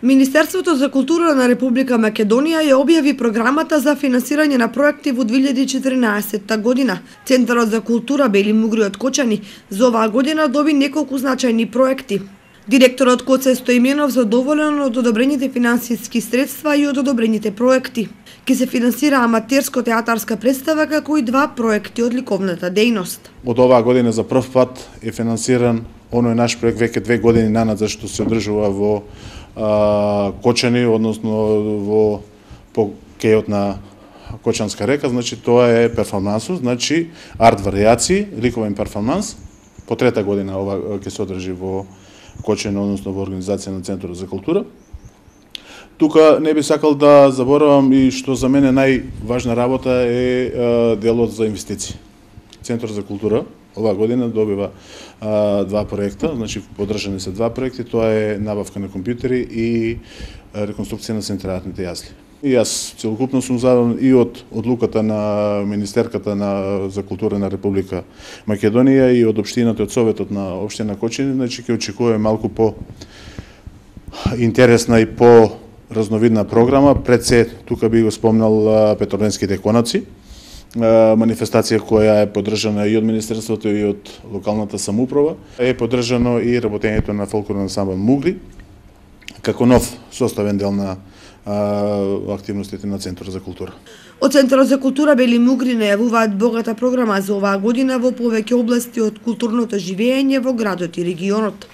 Министерството за култура на Република Македонија ја објави програмата за финансирање на проекти во 2014 година. Центарот за култура Бели Мугри од Кочани за оваа година доби неколку значајни проекти. Директорот Коце Стоименов задоволен од одобрените финансиски средства и од одобрените проекти. Ке се финансира аматерско-театарска представа како и 2 проекти од ликовната дејност. Од оваа година за прв пат е финансиран оној наш проект веќе 2 години нанад за што се одржува во Кочани, односно во кејот на Кочанска река, значи тоа е перформансус, значи арт варијации, ликовен перформанс. По 3-та година ова ќе се одржи во Кочани, односно во организација на Центарот за култура. Тука не би сакал да заборавам и што за мене најважна работа е делот за инвестиции. Центарот за култура оваа година добива 2 проекта, значи поддржани се 2 проекти, тоа е набавка на компјутери и реконструкција на централните јазли. И јас целокупно сум задоволен и од одлуката на Министерката за култура на Република Македонија и од општината, од Советот на општина Кочани, значи ќе очекуваме малку по интересна и по разновидна програма. Пред се тука би го спомнал Петорленските конаци, манифестација која е поддржана и од Министерството и од локалната самоуправа. Е поддржано и работењето на фолклорен ансамбл Мугри, како нов составен дел на активностите на Центарот за култура. Од Центарот за култура Бели Мугри најавуваат богата програма за оваа година во повеќе области од културното живење во градот и регионот.